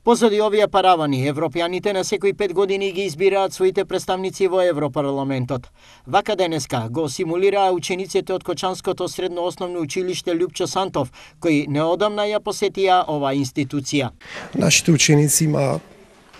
Позади овие паравани, европјаните на секои 5 години ги избираат своите представници во Европарламентот. Вака денеска го симулираа учениците од Кочанското средно основно училиште Љупчо Сантов, кои неодамна ја посетија оваа институција. Нашите ученици има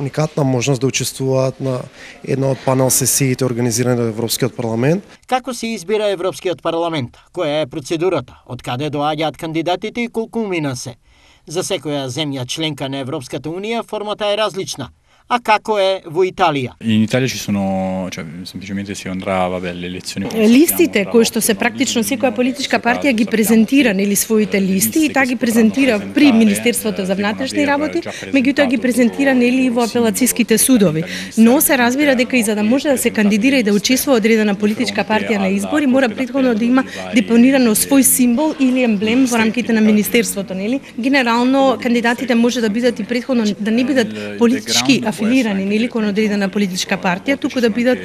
уникатна можност да учествуваат на една од панел сесиите организирани од Европскиот парламент. Како се избира Европскиот парламент? Која е процедурата? Од каде доаѓаат кандидатите и колку умина се? За секоја земја членка на Европската Унија формата е различна. A како е во Италија? In Italia ci sono, cioè semplicemente si andrà le elezioni. Листите кои што се практично секоја политичка партија ги презентира нели своите листи и таа ги презентира при Министерството за внатрешни работи, меѓутоа ги презентира нели во апелациските судови. Но се разбира дека и за да може да се кандидира и да учествува одредена политичка партија на избори, мора претходно да има депонирано свој символ или емблем во рамките на министерството, нели? Генерално кандидатите може да бидат и претходно да не бидат политички афилирани нели кон одредена политичка партија, туку да бидат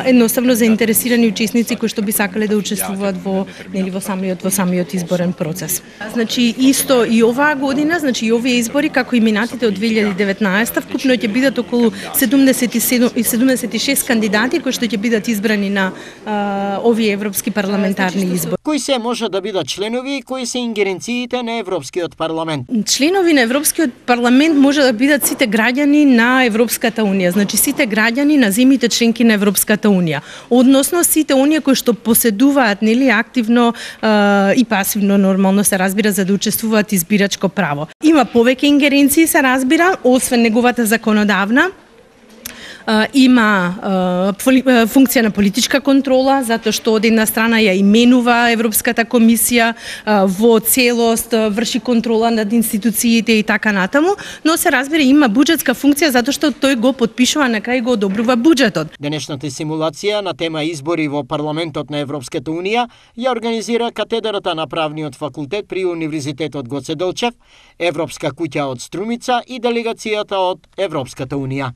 едноставно заинтересирани учесници кои што би сакале да учествуваат во нели во самиот изборен процес. Значи исто и оваа година, значи и овие избори како и минатите од 2019 вкупно ќе бидат околу 76 кандидати кои што ќе бидат избрани на овие европски парламентарни избори. Кои се може да бидат членови и кои се ингеренциите на Европскиот парламент? Членови на Европскиот парламент може да бидат сите граѓани на Европската Унија, значи сите граѓани на земјите членки на Европската Унија, односно сите оние кои што поседуваат нели активно и пасивно нормално се разбира за да учествуваат избирачко право. Има повеќе ингеренции се разбира, освен неговата законодавна. Има функција на политичка контрола, затоа што од една страна ја именува Европската комисија во целост, врши контрола над институциите и така натаму, но се разбира има буџетска функција затоа што тој го потпишува на крај го одобрува буџетот. Денешната симулација на тема избори во парламентот на Европската Унија ја организира катедрата на правниот факултет при Универзитетот Гоце Делчев, Европска куќа од Струмица и делегацијата од Европската Унија.